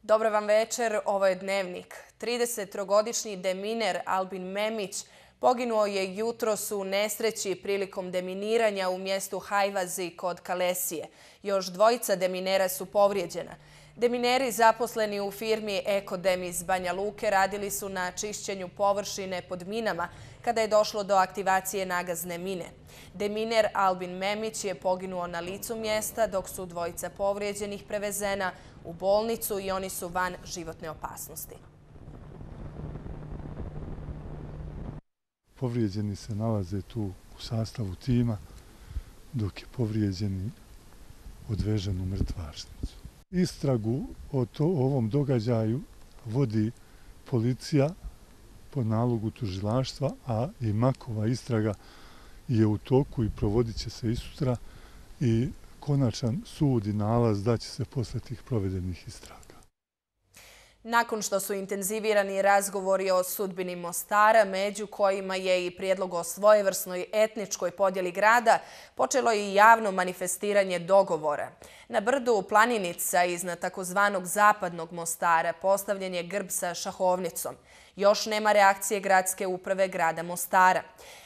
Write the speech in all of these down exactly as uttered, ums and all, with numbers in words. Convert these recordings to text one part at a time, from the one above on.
Dobro vam večer, ovo je Dnevnik. tridesettrogodišnji deminer Albin Memić poginuo je jutros u nesreći prilikom deminiranja u mjestu Hajvazi kod Kalesije. Još dvojica deminera su povrijeđena. Demineri zaposleni u firmi Ekodem iz Banja Luke radili su na čišćenju površine pod minama kada je došlo do aktivacije nagazne mine. Deminer Albin Memić je poginuo na licu mjesta dok su dvojica povrijeđenih prevezena u bolnicu i oni su van životne opasnosti. Povrijeđeni se nalaze tu u sastavu tima, dok je povrijeđeni odvežen u mrtvačnicu. Istragu o to, ovom događaju vodi policija po nalogu tužilaštva, a i Makova istraga je u toku i provodit će se i sutra i konačan sud i nalaz daće se posle tih provedenih istraga. Nakon što su intenzivirani razgovori o sudbini Mostara, među kojima je i prijedlog o svojevrsnoj etničkoj podjeli grada, počelo je i javno manifestiranje dogovora. Na brdu Planinica iznad takozvanog zapadnog Mostara postavljen je grb sa šahovnicom. Još nema reakcije gradske uprave grada Mostara.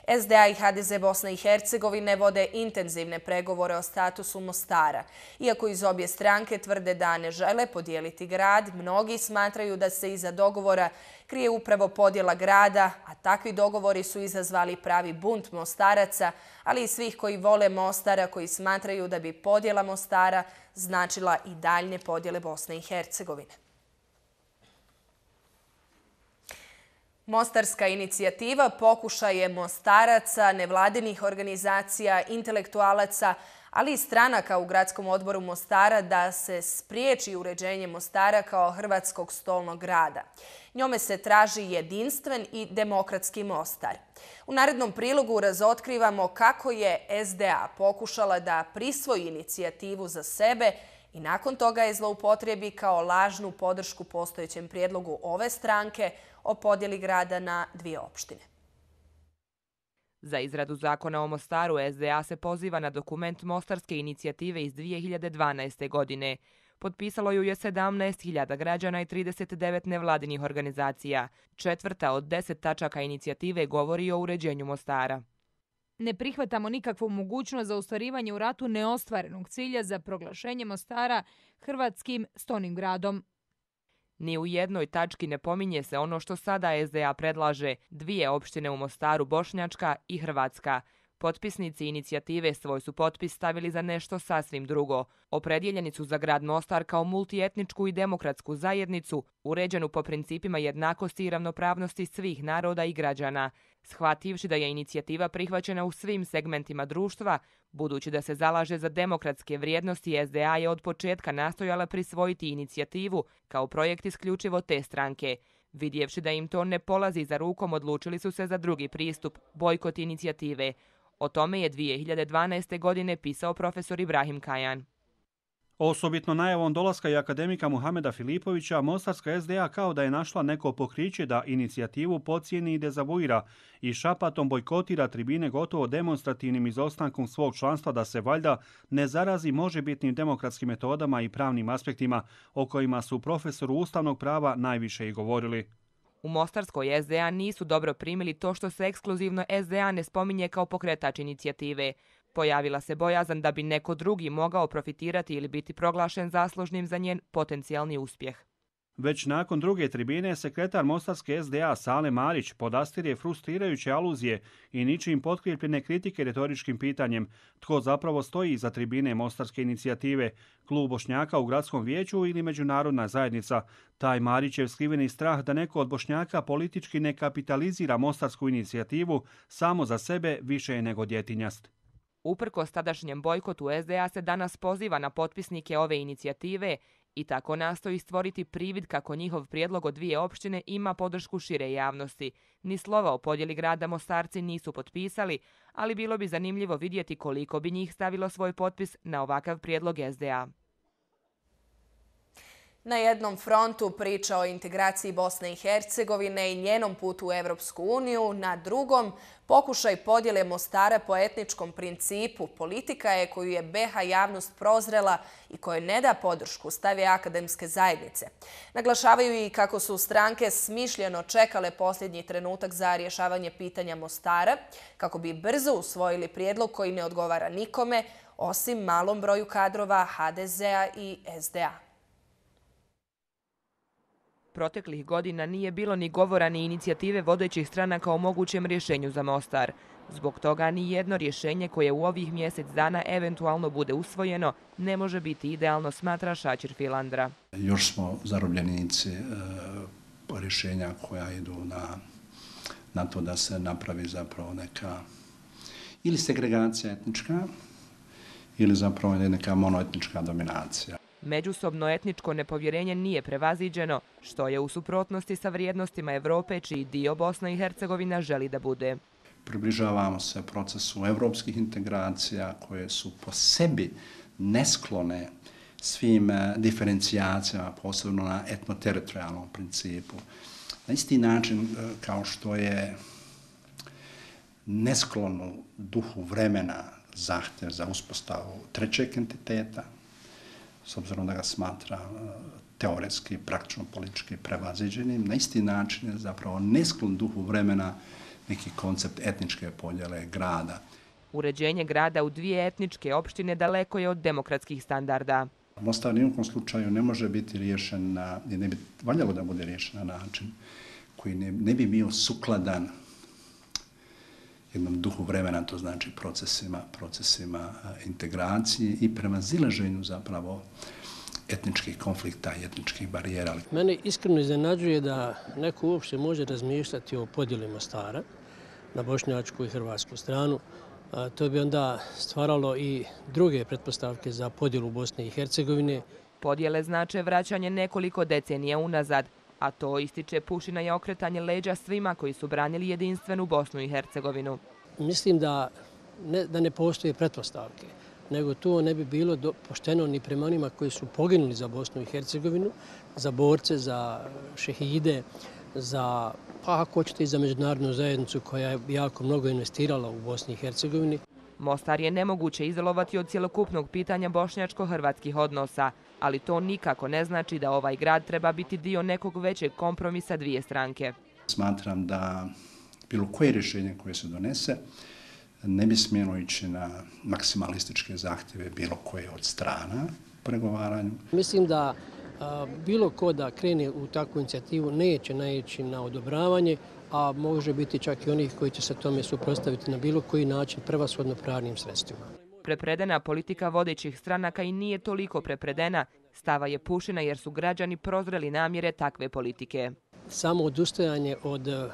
S D A i H D Z Bosne i Hercegovine vode intenzivne pregovore o statusu Mostara. Iako iz obje stranke tvrde da ne žele podijeliti grad, mnogi smatraju da se iza dogovora krije upravo podjela grada, a takvi dogovori su izazvali pravi bunt Mostaraca, ali i svih koji vole Mostara, koji smatraju da bi podjela Mostara značila i daljnje podjele Bosne i Hercegovine. Mostarska inicijativa pokušaj je Mostaraca, nevladinih organizacija, intelektualaca, ali i stranaka u gradskom odboru Mostara da se spriječi uređenje Mostara kao hrvatskog stolnog grada. Njome se traži jedinstven i demokratski Mostar. U narednom prilogu razotkrivamo kako je S D A pokušala da prisvoji inicijativu za sebe i nakon toga je zloupotrijebi kao lažnu podršku postojećem prijedlogu ove stranke o podjeli grada na dvije opštine. Za izradu zakona o Mostaru S D A se poziva na dokument Mostarske inicijative iz dvije hiljade dvanaeste. godine. Potpisalo ju je sedamnaest hiljada građana i trideset devet nevladinih organizacija. Četvrta od deset tačaka inicijative govori o uređenju Mostara. Ne prihvatamo nikakvu mogućnost za ostvarivanje u ratu neostvarenog cilja za proglašenje Mostara hrvatskim stolnim gradom. Ni u jednoj tački ne pominje se ono što sada S D A predlaže, dvije opštine u Mostaru, Bošnjačka i Hrvatska. Potpisnici inicijative svoj su potpis stavili za nešto sasvim drugo. Opredjeljeni su za grad Mostar kao multietničku i demokratsku zajednicu, uređenu po principima jednakosti i ravnopravnosti svih naroda i građana. Shvativši da je inicijativa prihvaćena u svim segmentima društva, budući da se zalaže za demokratske vrijednosti, S D A je od početka nastojala prisvojiti inicijativu kao projekt isključivo te stranke. Vidjevši da im to ne polazi za rukom, odlučili su se za drugi pristup, bojkot inicijative. O tome je dvije hiljade dvanaeste. godine pisao profesor Ibrahim Kajan. Osobitno najavom dolaska i akademika Muhameda Filipovića, Mostarska S D A kao da je našla neko pokriće da inicijativu pocijeni i dezavuira i šapatom bojkotira tribine gotovo demonstrativnim izostankom svog članstva da se valjda ne zarazi možebitnim demokratskim metodama i pravnim aspektima o kojima su profesoru ustavnog prava najviše i govorili. U Mostarskoj S D A nisu dobro primili to što se ekskluzivno S D A ne spominje kao pokretač inicijative. Pojavila se bojazan da bi neko drugi mogao profitirati ili biti proglašen zaslužnim za njen potencijalni uspjeh. Već nakon druge tribine, sekretar Mostarske S D A Sale Marić podastirje frustrirajuće aluzije i ničim potkrijepljene kritike retoričkim pitanjem tko zapravo stoji iza tribine Mostarske inicijative, klub Bošnjaka u gradskom vijeću ili međunarodna zajednica. Taj Marićev skriveni strah da neko od Bošnjaka politički ne kapitalizira Mostarsku inicijativu samo za sebe više je nego djetinjast. Uprkos tadašnjem bojkotu, S D A se danas poziva na potpisnike ove inicijative i tako nastoji stvoriti privid kako njihov prijedlog od dvije opštine ima podršku šire javnosti. Ni slova o podjeli grada Mostarci nisu potpisali, ali bilo bi zanimljivo vidjeti koliko bi njih stavilo svoj potpis na ovakav prijedlog S D A. Na jednom frontu priča o integraciji Bosne i Hercegovine i njenom putu u Evropsku uniju, na drugom pokušaj podjele Mostara po etničkom principu. Politika je koju je B iH javnost prozrela i kojoj ne da podršku stave akademske zajednice. Naglašavaju i kako su stranke smišljeno čekale posljednji trenutak za rješavanje pitanja Mostara, kako bi brzo usvojili prijedlog koji ne odgovara nikome, osim malom broju kadrova H D Z-a i S D A. Proteklih godina nije bilo ni govora ni inicijative vodećih stranaka o mogućem rješenju za Mostar. Zbog toga ni jedno rješenje koje u ovih mjesec dana eventualno bude usvojeno ne može biti idealno, smatra Šačir Filandra. Još smo zarobljenici e, rješenja koja idu na, na to da se napravi zapravo neka ili segregacija etnička ili zapravo neka monoetnička dominacija. Međusobno etničko nepovjerenje nije prevaziđeno, što je u suprotnosti sa vrijednostima Evrope, čiji dio Bosna i Hercegovina želi da bude. Približavamo se procesu evropskih integracija koje su po sebi nesklone svim diferencijacijama, posebno na etnoteritorijalnom principu. Na isti način kao što je nesklono duhu vremena zahtjev za uspostavu trećeg entiteta, s obzirom da ga smatra teoretski, praktično politički prevaziđenim, na isti način je zapravo nesklon duhu vremena neki koncept etničke podjele grada. Uređenje grada u dvije etničke opštine daleko je od demokratskih standarda. Mostar ni u kom slučaju ne može biti riješen na, i ne bi valjalo da bude riješen na način koji ne, ne bi bio sukladan jednom duhu vremena, to znači procesima, procesima integracije i prevazilaženju zapravo etničkih konflikta i etničkih barijera. Mene iskreno iznenađuje da neko uopšte može razmišljati o podjeli Mostara na bošnjačku i hrvatsku stranu. To bi onda stvaralo i druge pretpostavke za podjelu Bosne i Hercegovine. Podjele znače vraćanje nekoliko decenija unazad, a to ističe Pušina je okretanje leđa svima koji su branili jedinstvenu Bosnu i Hercegovinu. Mislim da ne, da ne postoje pretpostavke, nego to ne bi bilo do, pošteno ni prema onima koji su poginuli za Bosnu i Hercegovinu, za borce, za šehide, za, pa ako hoćete i za međunarodnu zajednicu koja je jako mnogo investirala u Bosni i Hercegovini. Mostar je nemoguće izolovati od cjelokupnog pitanja bošnjačko-hrvatskih odnosa, ali to nikako ne znači da ovaj grad treba biti dio nekog većeg kompromisa dvije stranke. Smatram da bilo koje rješenje koje se donese ne bi smjelo ići na maksimalističke zahtjeve bilo koje od strana u pregovaranju. Mislim da a, bilo ko da krene u takvu inicijativu neće naići na odobravanje, a može biti čak i onih koji će se tome suprotstaviti na bilo koji način, prevashodno pravnim sredstvima. Prepredena politika vodećih stranaka i nije toliko prepredena, stava je Pušina jer su građani prozreli namjere takve politike. Samo odustajanje od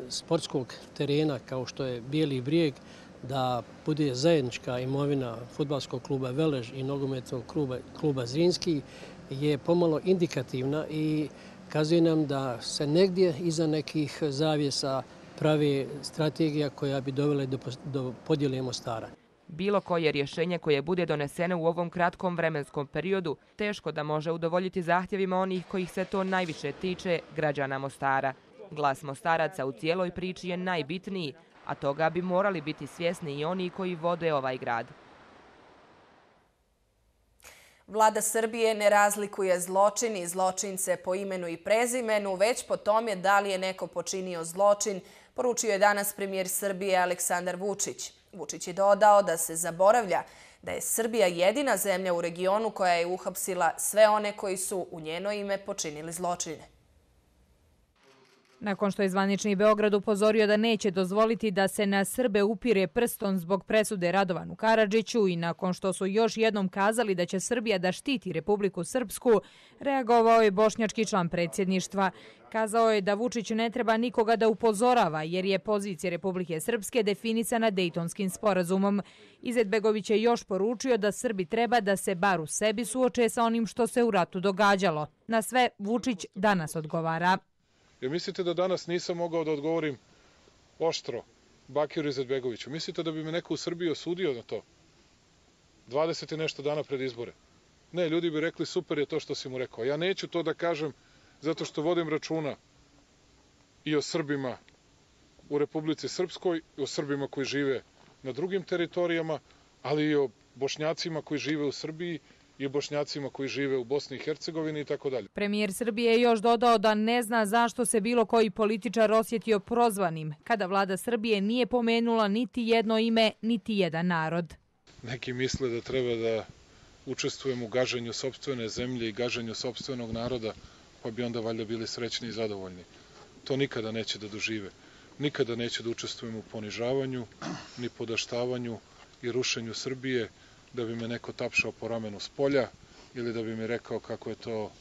sportskog terena kao što je Bijeli brijeg, da bude zajednička imovina fudbalskog kluba Velež i nogometnog kluba, kluba Zrinski je pomalo indikativna i kazuje nam da se negdje iza nekih zavjesa pravi strategija koja bi dovela do, do podjele Mostara. Bilo koje rješenje koje bude doneseno u ovom kratkom vremenskom periodu teško da može udovoljiti zahtjevima onih kojih se to najviše tiče, građana Mostara. Glas Mostaraca u cijeloj priči je najbitniji, a toga bi morali biti svjesni i oni koji vode ovaj grad. Vlada Srbije ne razlikuje zločin i zločince po imenu i prezimenu, već po tome da li je neko počinio zločin, poručio je danas premijer Srbije Aleksandar Vučić. Vučić je dodao da se zaboravlja da je Srbija jedina zemlja u regionu koja je uhapsila sve one koji su u njeno ime počinili zločine. Nakon što je zvanični Beograd upozorio da neće dozvoliti da se na Srbe upire prstom zbog presude Radovanu Karadžiću i nakon što su još jednom kazali da će Srbija da štiti Republiku Srpsku, reagovao je bošnjački član predsjedništva. Kazao je da Vučić ne treba nikoga da upozorava jer je pozicija Republike Srpske definisana Dejtonskim sporazumom. Izetbegović je još poručio da Srbi treba da se bar u sebi suoče sa onim što se u ratu događalo. Na sve Vučić danas odgovara. Jer mislite da danas nisam mogao da odgovorim oštro Bakiru Izetbegoviću? Mislite da bi me neko u Srbiji osudio na to? dvadeset i nešto dana pred izbore. Ne, ljudi bi rekli super je to što si mu rekao. Ja neću to da kažem zato što vodim računa i o Srbima u Republici Srpskoj, i o Srbima koji žive na drugim teritorijama, ali i o Bošnjacima koji žive u Srbiji i Bošnjacima koji žive u Bosni i Hercegovini i tako dalje. Premijer Srbije je još dodao da ne zna zašto se bilo koji političar osjetio prozvanim, kada vlada Srbije nije pomenula niti jedno ime, niti jedan narod. Neki misle da treba da učestvujem u gaženju sopstvene zemlje i gaženju sopstvenog naroda, pa bi onda valjda bili srećni i zadovoljni. To nikada neće da dožive. Nikada neće da učestvujem u ponižavanju, ni podaštavanju i rušenju Srbije, da bi me neko tapšao po ramenu s polja ili da bi mi rekao kako je to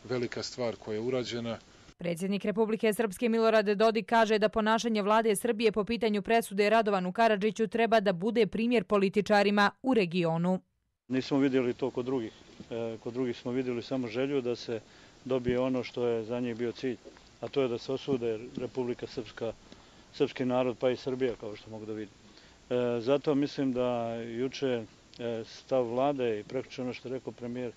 velika stvar koja je urađena. Predsjednik Republike Srpske Milorad Dodik kaže da ponašanje vlade Srbije po pitanju presude Radovanu Karadžiću treba da bude primjer političarima u regionu. Nismo vidjeli to kod drugih. Kod drugih smo vidjeli samo želju da se dobije ono što je za njih bio cilj, a to je da se osude Republika Srpska, srpski narod pa i Srbija, kao što mogu da vidim. Zato mislim da juče stav vlade i prekjuče ono što je rekao premijer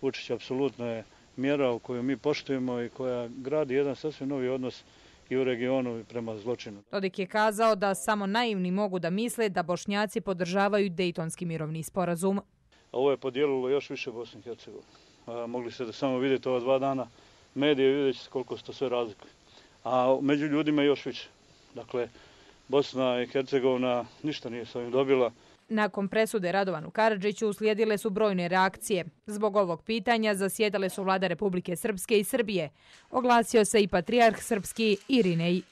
Vučić apsolutno je mjera u koju mi poštujemo i koja gradi jedan sasvim novi odnos i u regionu i prema zločinu. Dodik je kazao da samo naivni mogu da misle da Bošnjaci podržavaju Dejtonski mirovni sporazum. Ovo je podijelilo još više Bosnu i Hercegovinu. Mogli ste da samo vidjeti ova dva dana medije i vidjet ćete koliko se to sve razlikuje. A među ljudima još više. Dakle, Bosna i Hercegovina ništa nije s ovim dobila. Nakon presude Radovanu Karadžiću uslijedile su brojne reakcije. Zbog ovog pitanja zasjedale su vlada Republike Srpske i Srbije. Oglasio se i patrijarh srpski Irinej.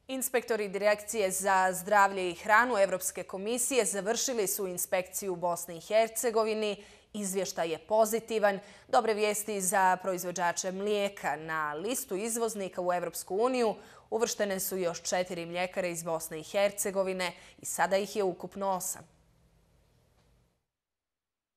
Inspektori Direkcije za zdravlje i hranu Evropske komisije završili su inspekciju u Bosni i Hercegovini. Izvještaj je pozitivan. Dobre vijesti za proizvođače mlijeka. Na listu izvoznika u Evropsku uniju uvrštene su još četiri mljekare iz Bosne i Hercegovine i sada ih je ukupno osam.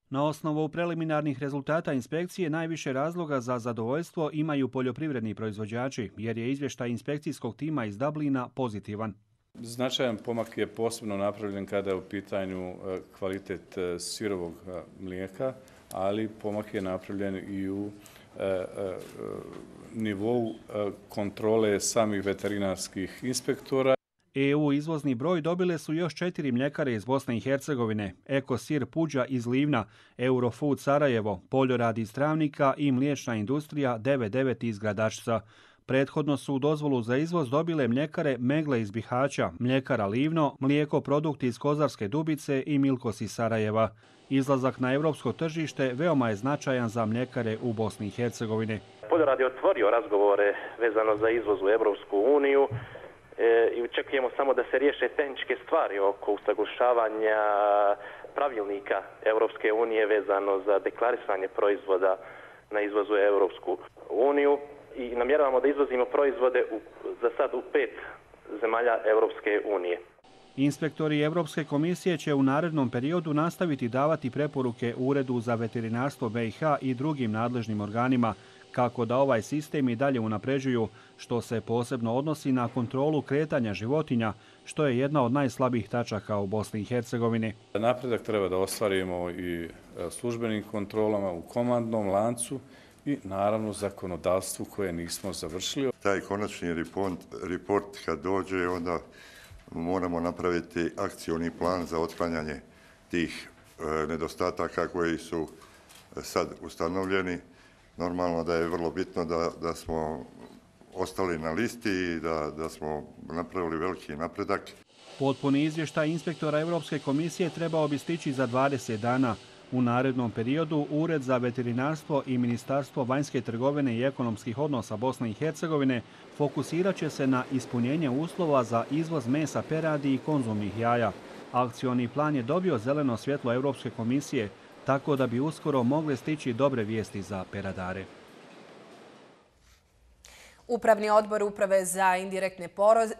Na osnovu preliminarnih rezultata inspekcije najviše razloga za zadovoljstvo imaju poljoprivredni proizvođači, jer je izvještaj inspekcijskog tima iz Dublina pozitivan. Značajan pomak je posebno napravljen kada je u pitanju kvalitet sirovog mlijeka, ali pomak je napravljen i u nivou kontrole samih veterinarskih inspektora. E U izvozni broj dobile su još četiri mljekare iz Bosne i Hercegovine, Ekosir Puđa iz Livna, Eurofood Sarajevo, Poljorad iz Travnika i mliječna industrija devet devet iz Gradačca. Prethodno su dozvolu za izvoz dobile mljekare Megle iz Bihaća, mljekara Livno, mlijeko produkti iz Kozarske Dubice i Milkos iz Sarajeva. Izlazak na evropsko tržište veoma je značajan za mljekare u Bosni i Hercegovini. Poljorad je otvorio razgovore vezano za izvoz u Evropsku uniju i očekujemo samo da se riješe tehničke stvari oko usaglašavanja pravilnika Evropske unije vezano za deklarisanje proizvoda na izvozu u Evropsku uniju. I namjeravamo da izvozimo proizvode u, za sad u pet zemalja Evropske unije. Inspektori Evropske komisije će u narednom periodu nastaviti davati preporuke Uredu za veterinarstvo B i H i drugim nadležnim organima kako da ovaj sistem i dalje unapređuju, što se posebno odnosi na kontrolu kretanja životinja, što je jedna od najslabijih tačaka u Bosni i Hercegovini. Napredak treba da ostvarimo i službenim kontrolama u komandnom lancu i naravno zakonodavstvu koje nismo završili. Taj konačni report, report kad dođe, onda moramo napraviti akcioni plan za otklanjanje tih e, nedostataka koji su sad ustanovljeni. Normalno da je vrlo bitno da, da smo ostali na listi i da, da smo napravili veliki napredak. Potpuni izvještaj inspektora Evropske komisije trebao bi stići za dvadeset dana. U narednom periodu Ured za veterinarstvo i Ministarstvo vanjske trgovine i ekonomskih odnosa Bosne i Hercegovine fokusirat će se na ispunjenje uslova za izvoz mesa peradi i konzumnih jaja. Akcioni plan je dobio zeleno svjetlo Evropske komisije, tako da bi uskoro mogle stići dobre vijesti za peradare. Upravni odbor Uprave za indirektne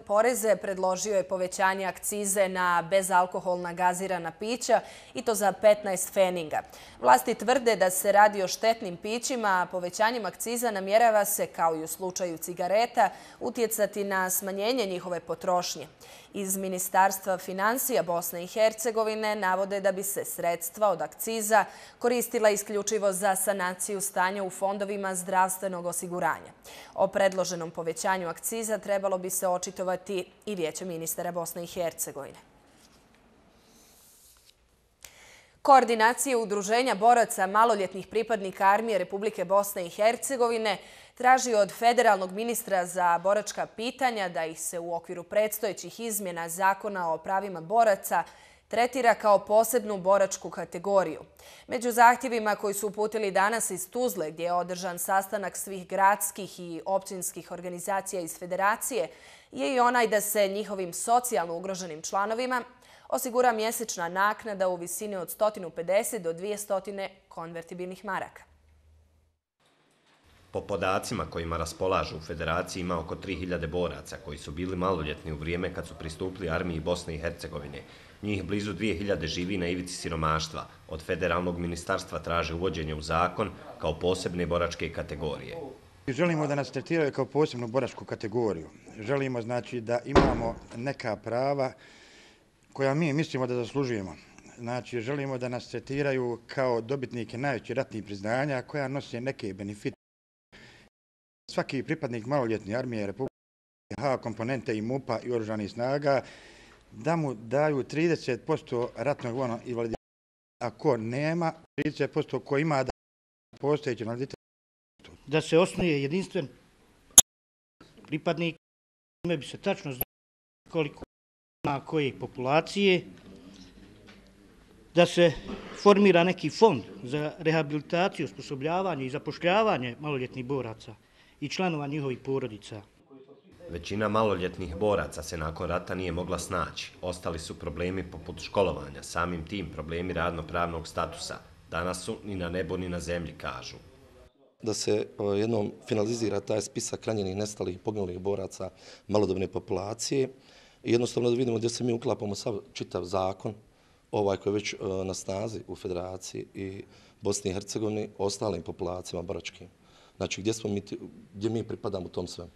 poreze predložio je povećanje akcize na bezalkoholna gazirana pića i to za petnaest pfeninga. Vlasti tvrde da se radi o štetnim pićima, a povećanjem akciza namjerava se, kao i u slučaju cigareta, utjecati na smanjenje njihove potrošnje. Iz Ministarstva financija Bosne i Hercegovine navode da bi se sredstva od akciza koristila isključivo za sanaciju stanja u fondovima zdravstvenog osiguranja. O predloženom povećanju akciza trebalo bi se očitovati i Vijeće ministara Bosne i Hercegovine. Koordinacija Udruženja boraca maloljetnih pripadnika armije Republike Bosne i Hercegovine traži od federalnog ministra za boračka pitanja da ih se u okviru predstojećih izmjena Zakona o pravima boraca tretira kao posebnu boračku kategoriju. Među zahtjevima koji su uputili danas iz Tuzle, gdje je održan sastanak svih gradskih i općinskih organizacija iz federacije, je i onaj da se njihovim socijalno ugroženim članovima osigura mjesečna naknada u visini od sto pedeset do dvjesto konvertibilnih maraka. Po podacima kojima raspolažu u federaciji ima oko tri hiljade boraca koji su bili maloljetni u vrijeme kad su pristupili armiji Bosne i Hercegovine. Njih blizu dvije hiljade živi na ivici siromaštva. Od federalnog ministarstva traže uvođenje u zakon kao posebne boračke kategorije. Želimo da nas tretiraju kao posebnu boračku kategoriju. Želimo znači da imamo neka prava koja mi mislimo da zaslužujemo. Znači, želimo da nas tretiraju kao dobitnike najvećih ratnih priznanja koja nose neke benefite. Svaki pripadnik maloljetne armije Republike H, komponente i MUP-a i oružanih snaga da mu daju trideset posto ratnog vojnog invaliditeta. Ako nema, trideset posto ko ima da postojeći invaliditet. Da se osnuje jedinstven pripadnik, ime bi se tačno znao koliko ima koje populacije, da se formira neki fond za rehabilitaciju, osposobljavanje i zapošljavanje maloljetnih boraca i članova njihovih porodica. Većina maloljetnih boraca se nakon rata nije mogla snaći. Ostali su problemi poput školovanja, samim tim problemi radno-pravnog statusa. Danas su ni na nebu ni na zemlji, kažu. Da se jednom finalizira taj spisak ranjenih, nestalih i poginulih boraca malodobne populacije i jednostavno da vidimo gdje se mi uklapamo sav čitav zakon, ovaj koji je već na snazi u Federaciji i Bosni i Hercegovini, ostalim populacijama boračkim. Znači gdje, smo mi, gdje mi pripadamo u tom svemu.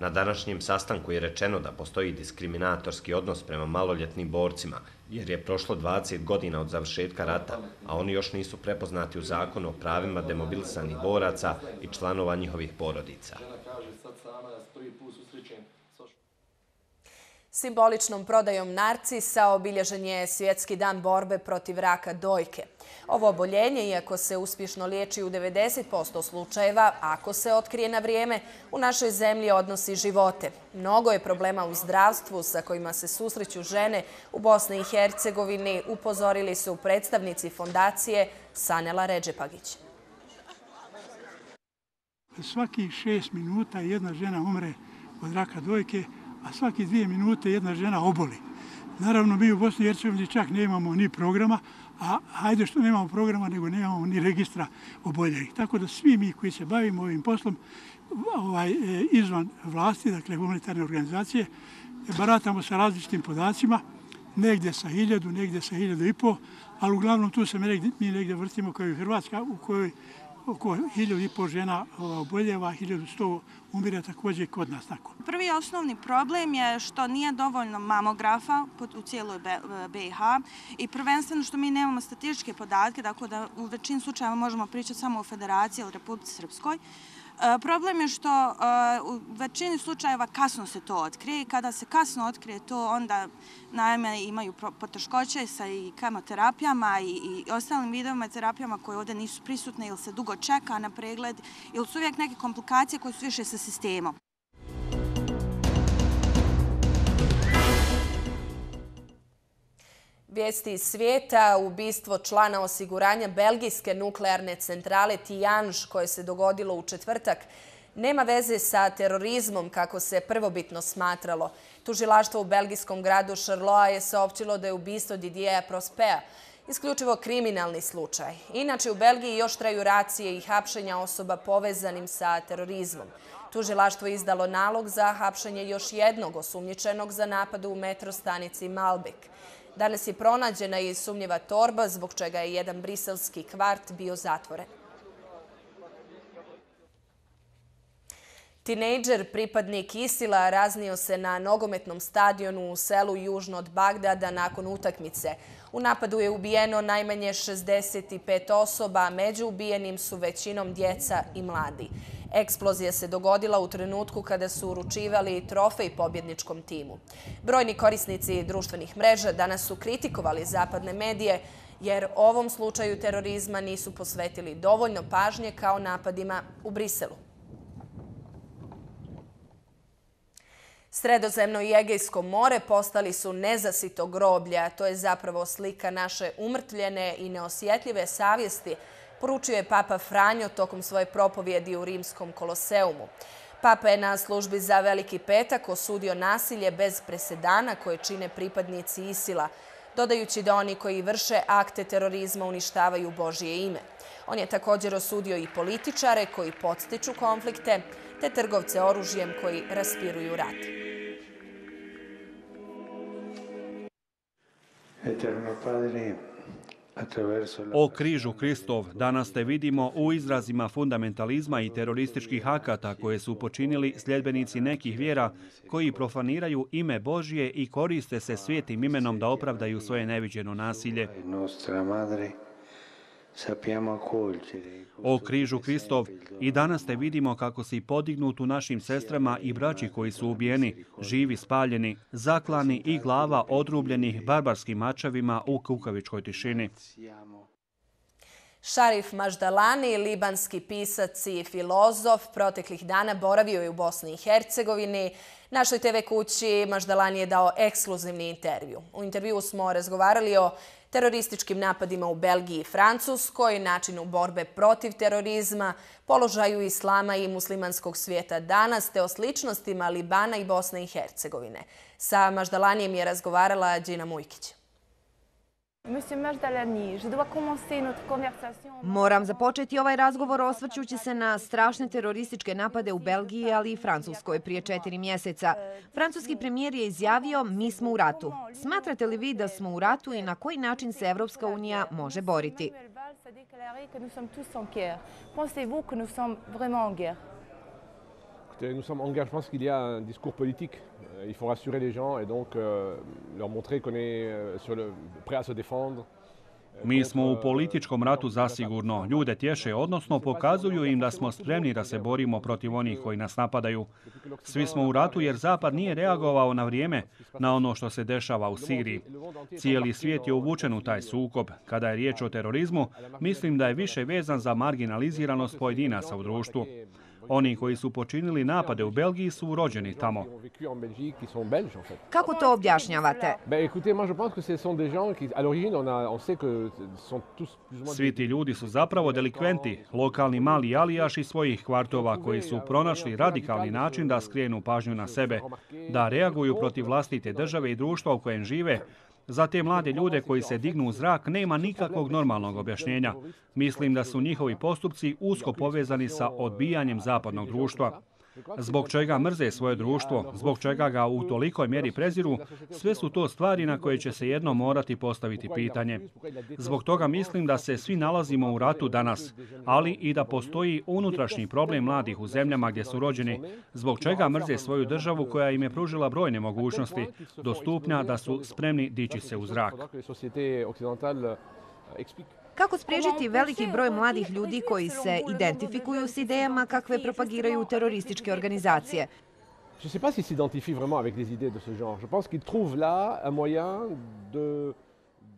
Na današnjem sastanku je rečeno da postoji diskriminatorski odnos prema maloljetnim borcima, jer je prošlo dvadeset godina od završetka rata, a oni još nisu prepoznati u zakonu o pravima demobilisanih boraca i članova njihovih porodica. Simboličnom prodajom narcisa obilježen je Svjetski dan borbe protiv raka dojke. Ovo oboljenje, iako se uspješno liječi u devedeset posto slučajeva, ako se otkrije na vrijeme, u našoj zemlji odnosi živote. Mnogo je problema u zdravstvu sa kojima se susreću žene u Bosni i Hercegovini, upozorili su predstavnici fondacije Sanela Redžepagić. Svaki šest minuta jedna žena umre od raka dojke, a svaki dvije minute jedna žena oboli. Naravno, mi u Bosni i Hercegovini čak nemamo ni programa, a hajde što nemamo programa, nego nemamo ni registra oboljelih. Tako da svi mi koji se bavimo ovim poslom ovaj, izvan vlasti, dakle humanitarne organizacije, baratamo sa različitim podacima, negdje sa hiljadu, negdje sa hiljadu i po, ali uglavnom tu se mi negdje, mi negdje vrtimo kao i Hrvatska, u kojoj oko hiljadu i po žena oboljeva, hiljadu sto umire također kod nas tako. Prvi osnovni problem je što nije dovoljno mamografa u cijeloj B i H i prvenstveno što mi nemamo statističke podatke, tako da u većini slučajeva možemo pričati samo o Federaciji ili Republici Srpskoj. Problem je što u većini slučajeva kasno se to otkrije i kada se kasno otkrije to onda naime imaju poteškoće sa i kemoterapijama i ostalim vidovima terapijama koje ovdje nisu prisutne ili se dugo čeka na pregled ili su uvijek neke komplikacije koje su više sa sistemom. Vijesti iz svijeta, ubistvo člana osiguranja belgijske nuklearne centrale Tihange koje se dogodilo u četvrtak, nema veze sa terorizmom kako se prvobitno smatralo. Tužilaštvo u belgijskom gradu Charleroi je saopćilo da je ubistvo Didieja Prospea isključivo kriminalni slučaj. Inače, u Belgiji još traju racije i hapšenja osoba povezanim sa terorizmom. Tužilaštvo je izdalo nalog za hapšenje još jednog osumnjičenog za napad u metro stanici Malbek. Danas je pronađena i sumnjiva torba, zbog čega je jedan briselski kvart bio zatvoren. Tinejdžer, pripadnik Isila, raznio se na nogometnom stadionu u selu južno od Bagdada nakon utakmice. U napadu je ubijeno najmanje šezdeset pet osoba, a među ubijenim su većinom djeca i mladi. Eksplozija se dogodila u trenutku kada su uručivali trofej pobjedničkom timu. Brojni korisnici društvenih mreža danas su kritikovali zapadne medije jer ovom slučaju terorizma nisu posvetili dovoljno pažnje kao napadima u Briselu. Sredozemno i Egejsko more postali su nezasito groblja. To je zapravo slika naše umrtvljene i neosjetljive savjesti, poručio je Papa Franjo tokom svoje propovjedi u Rimskom koloseumu. Papa je na službi za Veliki petak osudio nasilje bez presedana koje čine pripadnici Isila, dodajući da oni koji vrše akte terorizma uništavaju Božje ime. On je također osudio i političare koji podstiču konflikte, te trgovce oružjem koji raspiruju rat. O križu Kristov danas te vidimo u izrazima fundamentalizma i terorističkih akata koje su počinili sljedbenici nekih vjera koji profaniraju ime Božje i koriste se svijetim imenom da opravdaju svoje neviđeno nasilje. O križu Kristov i danas te vidimo kako si podignut u našim sestrama i braći koji su ubijeni, živi spaljeni, zaklani i glava odrubljenih barbarskim mačevima u kukavičkoj tišini. Šarif Maždalani, libanski pisac i filozof, proteklih dana boravio je u Bosni i Hercegovini. Našoj te ve kući Maždalani je dao ekskluzivni intervju. U intervju smo razgovarali o terorističkim napadima u Belgiji i Francuskoj, načinu borbe protiv terorizma, položaju islama i muslimanskog svijeta danas, te o sličnostima Libana i Bosne i Hercegovine. Sa Maždalanijem je razgovarala Đina Mujkić. Moram započeti ovaj razgovor osvrćući se na strašne terorističke napade u Belgiji, ali i Francuskoj prije četiri mjeseca. Francuski premijer je izjavio: mi smo u ratu. Smatrate li vi da smo u ratu i na koji način se Evropska unija može boriti? Nous sommes engagés, je pense qu'il y a un discours politique. Il faut rassurer les gens et donc euh, leur montrer qu'on est euh, sur le, prêt à se défendre. Mi smo u političkom ratu zasigurno. Ljude tješe, odnosno pokazuju im da smo spremni da se borimo protiv onih koji nas napadaju. Svi smo u ratu jer Zapad nije reagovao na vrijeme na ono što se dešava u Siriji. Cijeli svijet je uvučen u taj sukob. Kada je riječ o terorizmu, mislim da je više vezan za marginaliziranost pojedinaca u društvu. Oni koji su počinili napade u Belgiji su rođeni tamo. Kako to objašnjavate? Svi ti ljudi su zapravo delikventi, lokalni mali alijaši svojih kvartova koji su pronašli radikalni način da skrenu pažnju na sebe, da reaguju protiv vlastite države i društva u kojem žive. Za te mlade ljude koji se dignu u zrak nema nikakvog normalnog objašnjenja. Mislim da su njihovi postupci usko povezani sa odbijanjem zapadnog društva. Zbog čega mrze svoje društvo, zbog čega ga u tolikoj mjeri preziru, sve su to stvari na koje će se jednom morati postaviti pitanje. Zbog toga mislim da se svi nalazimo u ratu danas, ali i da postoji unutrašnji problem mladih u zemljama gdje su rođeni, zbog čega mrze svoju državu koja im je pružila brojne mogućnosti, do stupnja da su spremni dići se u zrak. Kako spriječiti veliki broj mladih ljudi koji se identifikuju s idejama kakve propagiraju terorističke organizacije? Je ne sais pas s'ils s'identifient vraiment avec des idées de ce genre. Je pense qu'ils trouvent là un moyen de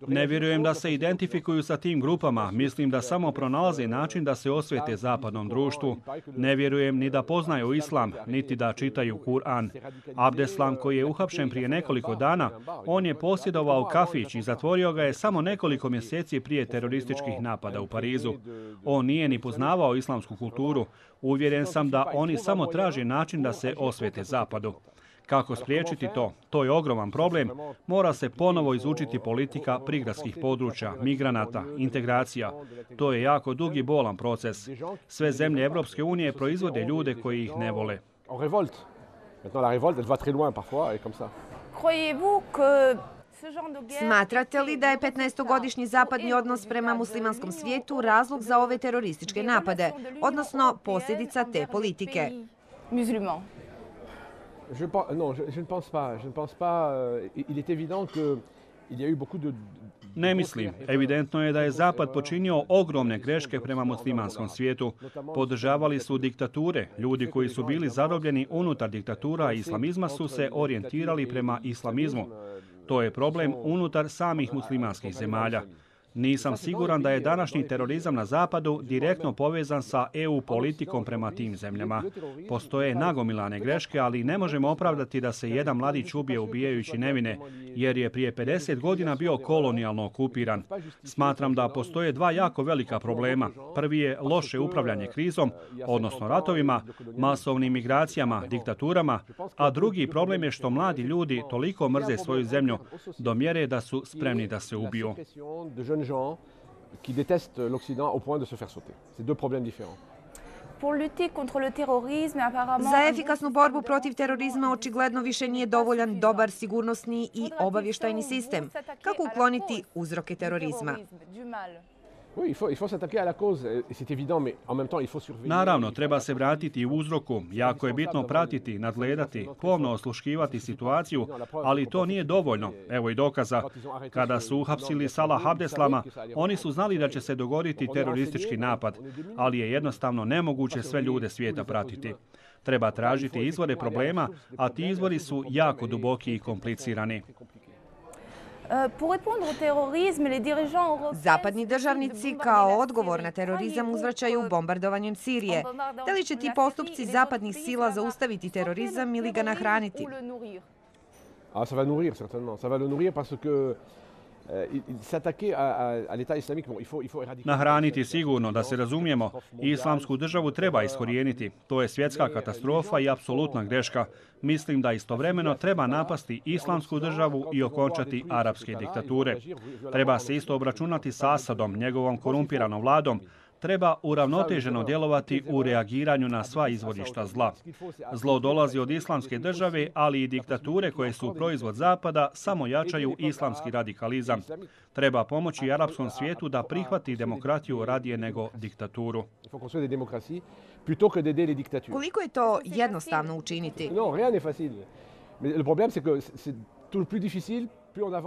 Ne vjerujem da se identifikuju sa tim grupama. Mislim da samo pronalaze način da se osvete zapadnom društvu. Ne vjerujem ni da poznaju islam, niti da čitaju Kur'an. Abdeslam, koji je uhapšen prije nekoliko dana, on je posjedovao kafić i zatvorio ga je samo nekoliko mjeseci prije terorističkih napada u Parizu. On nije ni poznavao islamsku kulturu. Uvjeren sam da oni samo traže način da se osvete zapadu. Kako spriječiti to? To je ogroman problem. Mora se ponovo izučiti politika prigradskih područja, migranata, integracija. To je jako dug i bolan proces. Sve zemlje Evropske unije proizvode ljude koji ih ne vole. Smatrate li da je petnaestogodišnji zapadni odnos prema muslimanskom svijetu razlog za ove terorističke napade, odnosno posljedica te politike? Je, non, je, je ne pense pas. Je ne pense pas. Il est évident qu'il y a eu beaucoup de... Ne mislim. Evidentno je da je Zapad počinio ogromne greške prema muslimanskom svijetu. Podržavali su diktature. Ljudi koji su bili zarobljeni unutar diktatura islamizma su se orijentirali prema islamizmu. To je problem unutar samih muslimanskih zemalja. Nisam siguran da je današnji terorizam na Zapadu direktno povezan sa E U politikom prema tim zemljama. Postoje nagomilane greške, ali ne možemo opravdati da se jedan mladić ubije ubijajući nevine, jer je prije pedeset godina bio kolonijalno okupiran. Smatram da postoje dva jako velika problema. Prvi je loše upravljanje krizom, odnosno ratovima, masovnim migracijama, diktaturama, a drugi problem je što mladi ljudi toliko mrze svoju zemlju do mjere da su spremni da se ubiju. gens qui détestent l'Occident au point de se faire sauter. C'est deux problèmes différents. Za efikasnu borbu protiv terorizma očigledno više nije dovoljan dobar sigurnosni i obavještajni sistem. Kako ukloniti uzroke terorizma? Naravno, treba se vratiti u uzroku. Jako je bitno pratiti, nadgledati, pomno osluškivati situaciju, ali to nije dovoljno. Evo i dokaza. Kada su uhapsili Salah Abdeslama, oni su znali da će se dogoditi teroristički napad, ali je jednostavno nemoguće sve ljude svijeta pratiti. Treba tražiti izvore problema, a ti izvori su jako duboki i komplicirani. Zapadni državnici kao odgovor na terorizam uzvraćaju bombardovanjem Sirije. Da li će ti postupci zapadnih sila zaustaviti terorizam ili ga nahraniti? Ah, ça va nourrir certainement. Ça va le nourrir parce que s'attaquer à l'État islamique, bon, il faut, il faut éradiquer. Nahraniti sigurno, da se razumijemo. Islamsku državu treba iskorijeniti. To je svjetska katastrofa i apsolutna greška. Mislim da istovremeno treba napasti islamsku državu i okončati arapske diktature. Treba se isto obračunati s Asadom, njegovom korumpiranom vladom. Treba uravnoteženo djelovati u reagiranju na sva izvorišta zla. Zlo dolazi od islamske države, ali i diktature koje su proizvod Zapada samo jačaju islamski radikalizam. Treba pomoći arapskom svijetu da prihvati demokratiju radije nego diktaturu. Koliko je to jednostavno učiniti?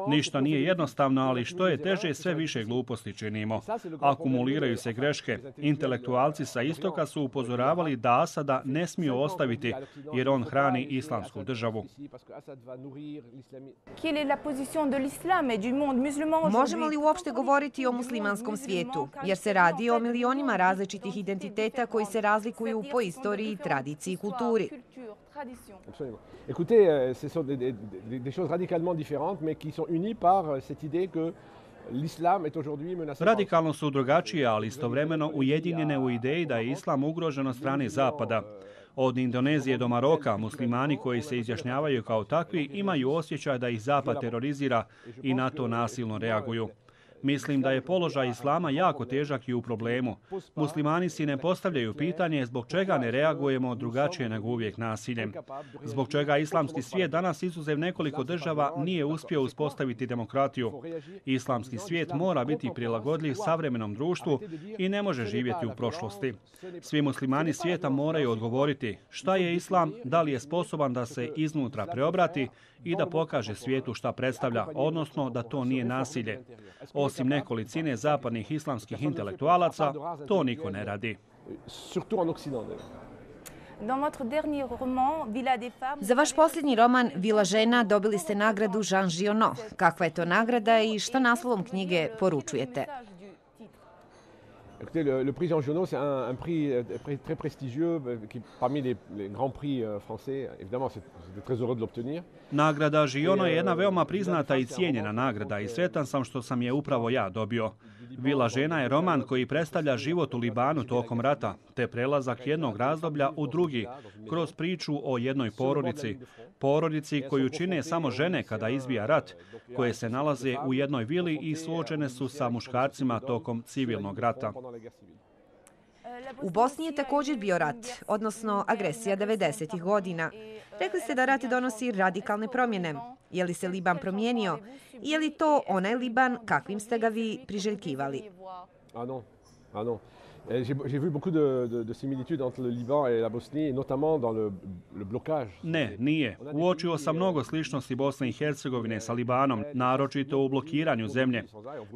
Ništa nije jednostavno, ali što je teže, sve više gluposti činimo. Akumuliraju se greške. Intelektualci sa istoka su upozoravali da Asada ne smiju ostaviti, jer on hrani islamsku državu. Možemo li uopšte govoriti o muslimanskom svijetu? Jer se radi o milionima različitih identiteta koji se razlikuju po istoriji, tradiciji i kulturi. Absolument. Écoutez, ce sont des, des, des choses radicalement différentes, mais qui sont unies par cette idée que l'islam est aujourd'hui menacé. Radikalno su drugačije, ali istovremeno ujedinjene u ideji da je islam ugrožen od strane Zapada. Od Indonezije do Maroka, muslimani koji se izjašnjavaju kao takvi imaju osjećaj da ih Zapad terorizira i na to nasilno reaguju. Mislim da je položaj islama jako težak i u problemu. Muslimani si ne postavljaju pitanje zbog čega ne reagujemo drugačije nego uvijek nasiljem. Zbog čega islamski svijet danas izuzev nekoliko država nije uspio uspostaviti demokratiju. Islamski svijet mora biti prilagodljiv savremenom društvu i ne može živjeti u prošlosti. Svi muslimani svijeta moraju odgovoriti šta je islam, da li je sposoban da se iznutra preobrati i da pokaže svijetu šta predstavlja, odnosno da to nije nasilje. Osim nekolicine zapadnih islamskih intelektualaca, to niko ne radi. Za vaš posljednji roman Vila žena dobili ste nagradu Jean Giono. Kakva je to nagrada i što naslovom knjige poručujete? Écoutez, le, le prix Jean Giono, c'est un, un prix très prestigieux, qui parmi les, les grands prix français. Évidemment, c'est très heureux de l'obtenir. Nagrada Giono je jedna veoma priznata i cijenjena nagrada i sretan sam što sam je upravo ja dobio. Vila žena je roman koji predstavlja život u Libanu tokom rata, te prelazak jednog razdoblja u drugi, kroz priču o jednoj porodici. Porodici koju čine samo žene kada izbija rat, koje se nalaze u jednoj vili i suočene su sa muškarcima tokom civilnog rata. U Bosni je također bio rat, odnosno agresija devedesetih godina. Rekli ste da rat donosi radikalne promjene. Je li se Liban promijenio? Je li to onaj Liban kakvim ste ga vi priželjkivali? Ah non, ah non. J'ai vu beaucoup de, de, de similitudes entre le Liban et la Bosnie, et notamment dans le, le blocage. Ne, nije. Uočio sam mnogo sličnosti Bosne i Hercegovine sa Libanom, naročito u blokiranju zemlje.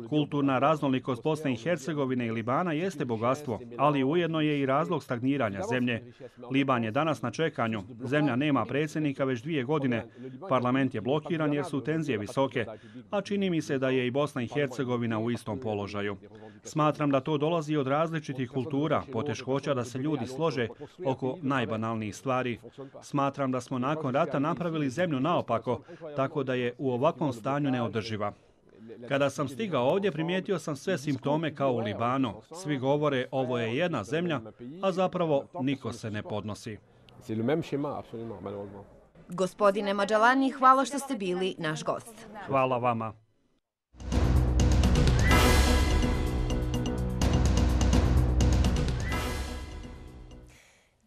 Kulturna raznolikost Bosne i Hercegovine i Libana jeste bogatstvo, ali ujedno je i razlog stagniranja zemlje. Liban je danas na čekanju. Zemlja nema predsjednika već dvije godine. Parlament je blokiran jer su tenzije visoke, a čini mi se da je i Bosna i Hercegovina u istom položaju. Smatram da to dolazi od različitih kultura, poteškoća da se ljudi slože oko najbanalnijih stvari. Smatram da smo nakon rata napravili zemlju naopako, tako da je u ovakvom stanju neodrživa. Kada sam stigao ovdje, primijetio sam sve simptome kao u Libanu. Svi govore ovo je jedna zemlja, a zapravo niko se ne podnosi. Gospodine Madžalani, hvala što ste bili naš gost. Hvala vama.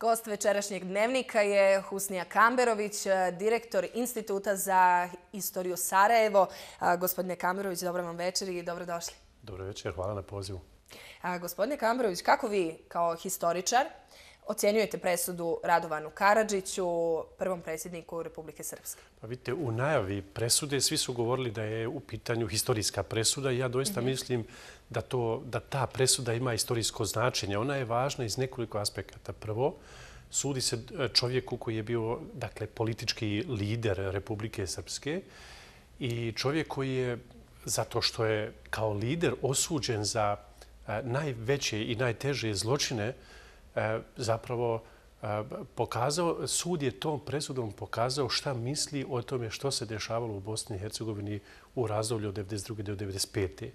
Gost večerašnjeg dnevnika je Husnija Kamberović, direktor Instituta za istoriju Sarajevo. Gospodine Kamberović, dobro vam večer i dobrodošli. Dobro večer, hvala na pozivu. Gospodine Kamberović, kako vi kao historičar ocjenjujete presudu Radovanu Karadžiću, prvom predsjedniku Republike Srpske? Pa vidite, u najavi presude svi su govorili da je u pitanju historijska presuda i ja doista mm-hmm. mislim da, to, da ta presuda ima historijsko značenje. Ona je važna iz nekoliko aspekata. Prvo, sudi se čovjeku koji je bio dakle, politički lider Republike Srpske i čovjek koji je, zato što je kao lider osuđen za najveće i najteže zločine, zapravo pokazao, sud je tom presudom pokazao šta misli o tome što se dešavalo u Bosni i Hercegovini u razdoblju od devedeset druge do devedeset pete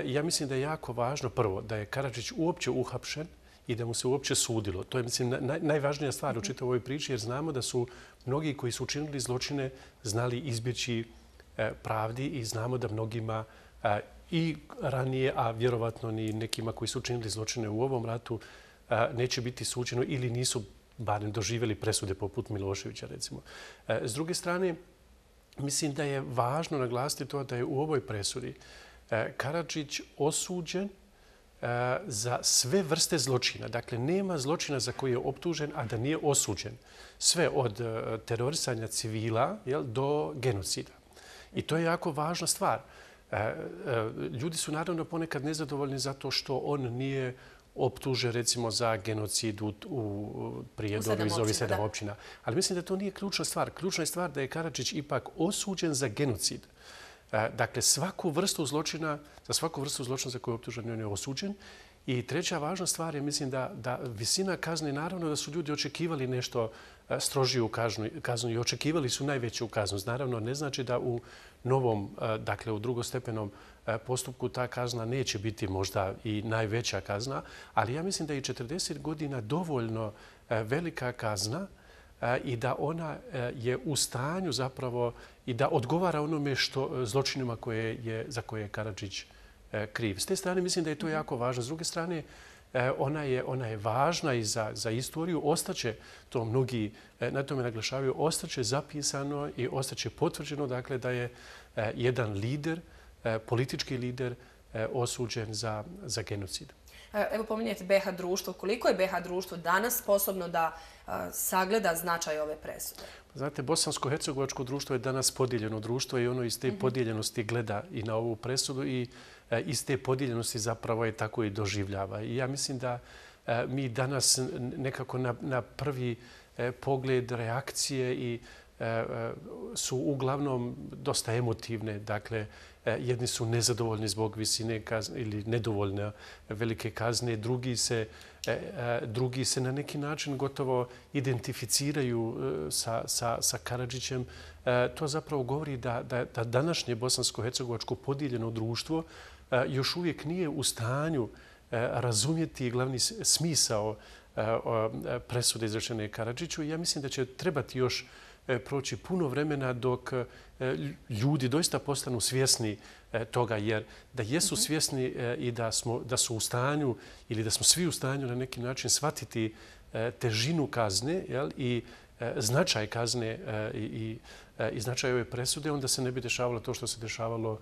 Ja mislim da je jako važno prvo da je Karadžić uopće uhapšen i da mu se uopće sudilo. To je mislim naj, najvažnija stvar u čitavoj ovoj priči jer znamo da su mnogi koji su učinili zločine znali izbjeći pravdi i znamo da mnogima i ranije, a vjerovatno ni nekima koji su učinili zločine u ovom ratu neće biti suđeno ili nisu barem doživjeli presude poput Miloševića, recimo. S druge strane, mislim da je važno naglasiti to da je u ovoj presudi Karadžić osuđen za sve vrste zločina. Dakle, nema zločina za koji je optužen, a da nije osuđen. Sve od terorisanja civila jel, do genocida. I to je jako važna stvar. Ljudi su naravno ponekad nezadovoljni zato što on nije optuže recimo za genocid u, u Prijedoru iz ovih sedam općina. Ali mislim da to nije ključna stvar. Ključna je stvar da je Karadžić ipak osuđen za genocid. Dakle, svaku vrstu zločina, za svaku vrstu zločina za koju je optužen, on je osuđen. I treća važna stvar je, mislim, da, da visina kazne, naravno da su ljudi očekivali nešto strožiju kaznu, kaznu i očekivali su najveću kaznu. Naravno, ne znači da u novom, dakle u drugostepenom postupku ta kazna neće biti možda i najveća kazna, ali ja mislim da je četrdeset godina dovoljno velika kazna i da ona je u stanju zapravo i da odgovara onome što zločinima koje je, za koje je Karadžić kriv. S te strane mislim da je to jako važno. S druge strane, ona je, ona je važna i za, za istoriju. Ostaće, to mnogi na tome naglašavaju, ostaće zapisano i ostaće potvrđeno dakle, da je jedan lider, politički lider, osuđen za, za genocid. Evo pominjete B H društvo. Koliko je B H društvo danas sposobno da sagleda značaj ove presude? Znate, bosansko-hercegovačko društvo je danas podijeljeno društvo i ono iz te podijeljenosti gleda i na ovu presudu i iz te podijeljenosti zapravo je tako i doživljava. I ja mislim da mi danas nekako na, na prvi pogled reakcije i su uglavnom dosta emotivne. Dakle, jedni su nezadovoljni zbog visine kazne ili nedovoljne velike kazne, drugi se, drugi se na neki način gotovo identificiraju sa, sa, sa Karadžićem to zapravo govori da, da, da današnje bosansko-hercegovačko podijeljeno društvo još uvijek nije u stanju razumjeti glavni smisao presude izrečene Karadžiću. Ja mislim da će trebati još proći puno vremena dok ljudi doista postanu svjesni toga, jer da jesu svjesni i da, smo, da su u stanju ili da smo svi u stanju na neki način shvatiti težinu kazne, jel, i značaj kazne i, i, i značaj ove presude, onda se ne bi dešavalo to što se dešavalo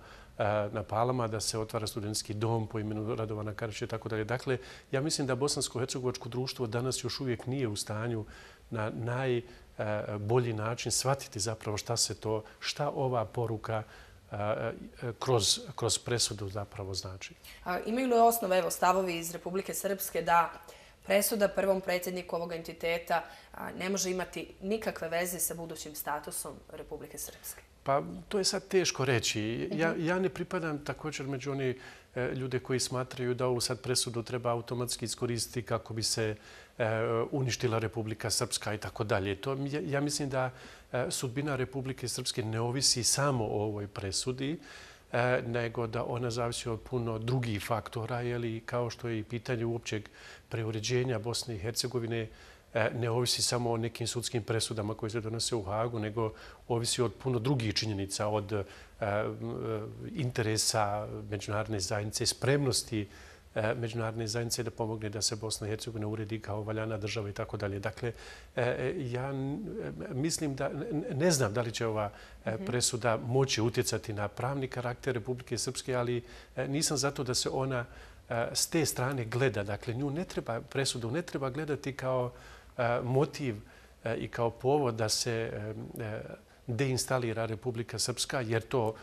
na Palama, da se otvara studentski dom po imenu Radovana Karadžića i tako dalje. Dakle, ja mislim da bosansko-hercegovačko društvo danas još uvijek nije u stanju na najbolji način shvatiti zapravo šta se to, šta ova poruka kroz, kroz presudu zapravo znači. A imaju li osnove, evo, stavovi iz Republike Srpske da presuda prvom predsjedniku ovog entiteta ne može imati nikakve veze sa budućim statusom Republike Srpske? Pa to je sad teško reći. Ja, ja ne pripadam također među one ljude koji smatraju da ovu sad presudu treba automatski iskoristiti kako bi se uništila Republika Srpska i tako dalje. To, ja mislim da sudbina Republike Srpske ne ovisi samo o ovoj presudi, nego da ona zavisi od puno drugih faktora, jeli, kao što je i pitanje uopćeg preuređenja Bosne i Hercegovine ne ovisi samo o nekim sudskim presudama koje se donose u Hagu, nego ovisi od puno drugih činjenica, od interesa međunarodne zajednice, spremnosti međunarodne zajednice da pomogne da se Bosna i Hercegovina uredi kao valjana država i tako dalje. Dakle, ja mislim da, ne znam da li će ova presuda moći utjecati na pravni karakter Republike Srpske, ali nisam zato da se ona s te strane gleda. Dakle, nju ne treba, presudu ne treba gledati kao motiv i kao povod da se deinstalira Republika Srpska, jer to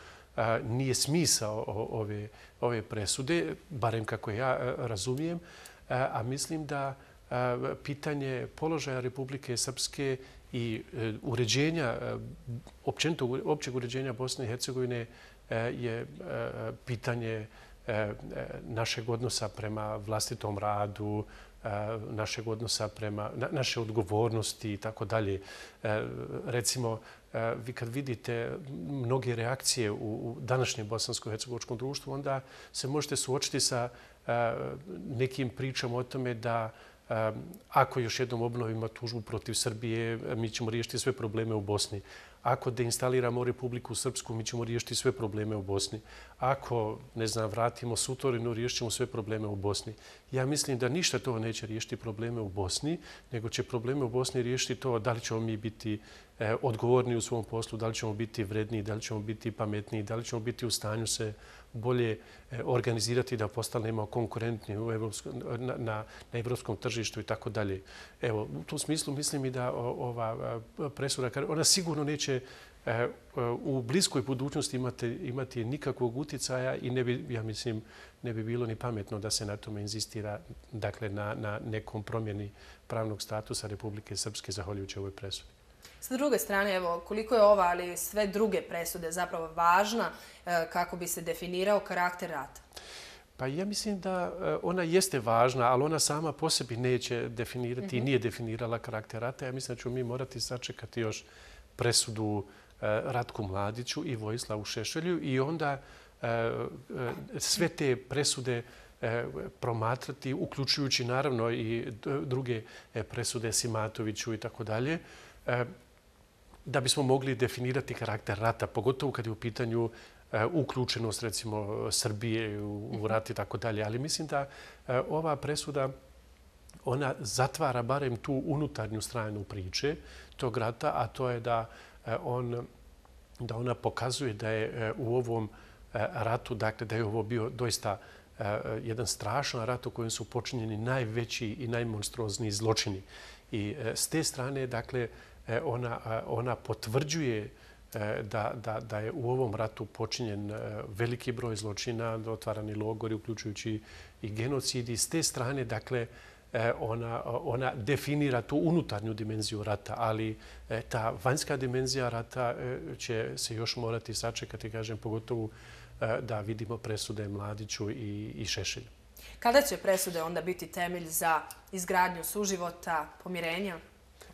nije smisao ove, ove presude, barem kako ja razumijem, a mislim da pitanje položaja Republike Srpske i uređenja, općenito općeg uređenja Bosne i Hercegovine je pitanje našeg odnosa prema vlastitom radu, našeg odnosa prema naše odgovornosti i tako dalje. Recimo, vi kad vidite mnoge reakcije u današnjem bosansko-hercegovačkom društvu, onda se možete suočiti sa nekim pričama o tome da ako još jednom obnovimo tužbu protiv Srbije, mi ćemo riješiti sve probleme u Bosni. Ako deinstaliramo Republiku Srpsku, mi ćemo riješiti sve probleme u Bosni. Ako, ne znam, vratimo Sutorinu, riješit ćemo sve probleme u Bosni. Ja mislim da ništa to neće riješiti probleme u Bosni, nego će probleme u Bosni riješiti to da li ćemo mi biti odgovorni u svom poslu, da li ćemo biti vredniji, da li ćemo biti pametniji, da li ćemo biti u stanju se bolje organizirati da postanemo konkurentni u evropskom, na, na, na evropskom tržištu i tako dalje. Evo, u tom smislu mislim i da ova presuda, ona sigurno neće u bliskoj budućnosti imati, imati nikakvog utjecaja i ne bi, ja mislim, ne bi bilo ni pametno da se na tome inzistira, dakle, na, na nekom promjeni pravnog statusa Republike Srpske zahvaljujući ovoj presudi. S druge strane, evo, koliko je ova, ali sve druge presude zapravo važna kako bi se definirao karakter rata? Pa ja mislim da ona jeste važna, ali ona sama po sebi neće definirati mm-hmm. i nije definirala karakter rata. Ja mislim da ćemo mi morati sačekati još presudu Ratku Mladiću i Vojislavu Šešelju i onda sve te presude promatrati, uključujući naravno i druge presude Simatoviću i tako dalje, da bismo mogli definirati karakter rata, pogotovo kad je u pitanju uključenost, recimo, Srbije u rat i tako dalje. Ali mislim da ova presuda, ona zatvara barem tu unutarnju stranu priče tog rata, a to je da, on, da ona pokazuje da je u ovom ratu, dakle, da je ovo bio doista jedan strašan rat u kojem su počinjeni najveći i najmonstruozniji zločini. I s te strane, dakle, ona, ona potvrđuje da, da, da je u ovom ratu počinjen veliki broj zločina, otvarani logori, uključujući i genocid. I s te strane, dakle, ona, ona definira tu unutarnju dimenziju rata, ali ta vanjska dimenzija rata će se još morati sačekati, kažem, pogotovo da vidimo presude Mladiću i, i Šešelju. Kada će presude onda biti temelj za izgradnju suživota, pomirenja?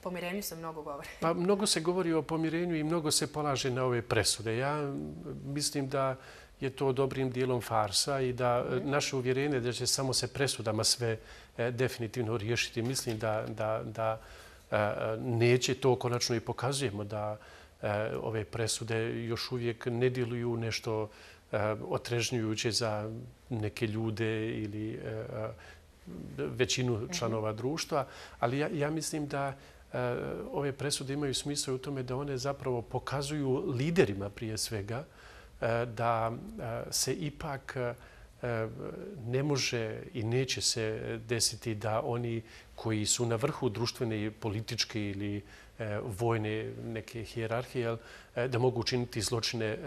pomirenju se mnogo govori. Pa mnogo se govori o pomirenju i mnogo se polaže na ove presude. Ja mislim da je to dobrim dijelom farsa i da naše uvjerenje da će samo se presudama sve definitivno riješiti. Mislim da, da, da neće, to konačno i pokazujemo, da ove presude još uvijek ne djeluju nešto otrežnjujuće za neke ljude ili većinu članova društva, ali ja, ja mislim da ove presude imaju smisla u tome da one zapravo pokazuju liderima prije svega da se ipak ne može i neće se desiti da oni koji su na vrhu društvene, političke ili vojne neke hijerarhije, da mogu učiniti zločine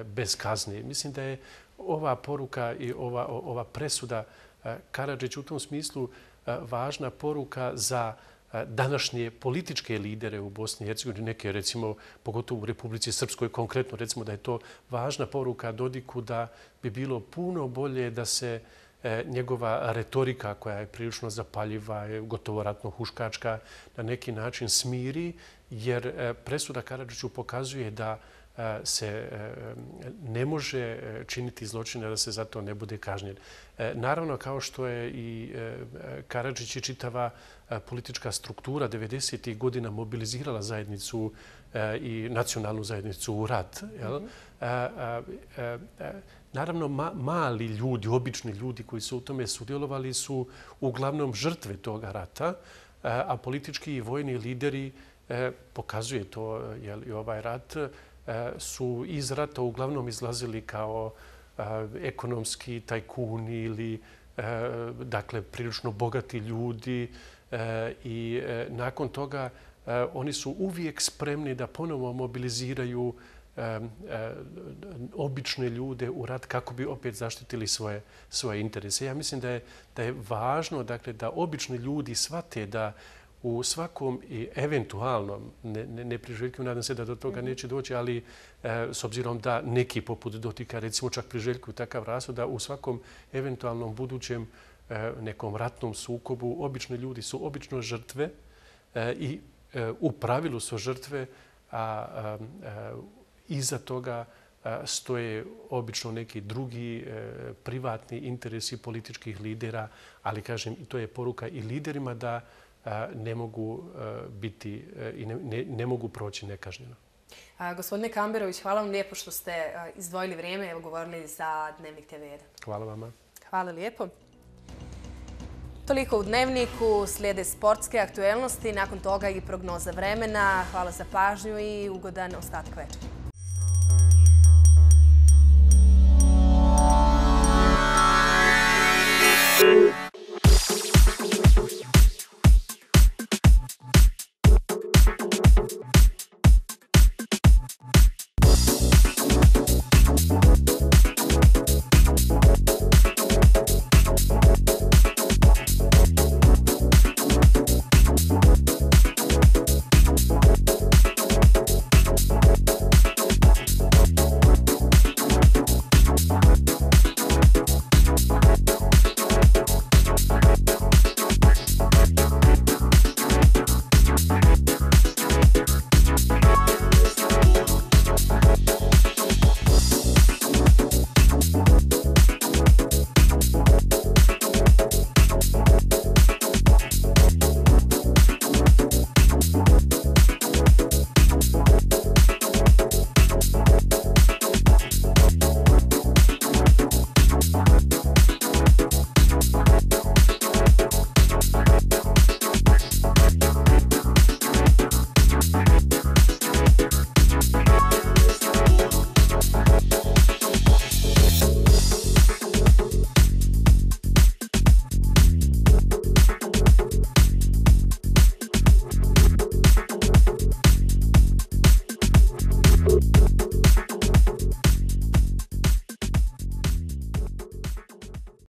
bez kazne. Mislim da je ova poruka i ova, ova presuda Karadžić u tom smislu važna poruka za današnje političke lidere u Bosni i Hercegovini, neke recimo, pogotovo u Republici Srpskoj konkretno, recimo da je to važna poruka Dodiku da bi bilo puno bolje da se njegova retorika koja je prilično zapaljiva, je gotovo ratno huškačka, na neki način smiri, jer presuda Karadžiću pokazuje da se ne može činiti zločine da se za to ne bude kažnjen. Naravno, kao što je i Karadžić i čitava politička struktura devedesetih godina mobilizirala zajednicu i nacionalnu zajednicu u rat. Naravno, mali ljudi, obični ljudi koji su u tome sudjelovali su uglavnom žrtve toga rata, a politički i vojni lideri, pokazuje to i ovaj rat, su iz rata uglavnom izlazili kao ekonomski tajkuni ili dakle prilično bogati ljudi i nakon toga oni su uvijek spremni da ponovo mobiliziraju obične ljude u rat kako bi opet zaštitili svoje, svoje interese. Ja mislim da je, da je važno dakle, da obični ljudi shvate da u svakom i eventualnom, ne, ne, ne priželjkujem, nadam se da do toga neće doći, ali e, s obzirom da neki poput Dodika recimo čak priželjkuju takav rashod, da u svakom eventualnom budućem e, nekom ratnom sukobu obični ljudi su obično žrtve e, i e, u pravilu su žrtve, a, a, a iza toga a, stoje obično neki drugi e, privatni interesi političkih lidera, ali kažem, to je poruka i liderima da ne mogu biti i ne, ne, ne mogu proći nekažnjeno. A, gospodine Kamberović, hvala vam lijepo što ste izdvojili vrijeme i govorili za Dnevnik te ve jedan. Hvala vama. Hvala lijepo. Toliko u Dnevniku, slijede sportske aktuelnosti, nakon toga i prognoza vremena. Hvala za pažnju i ugodan ostatak večera.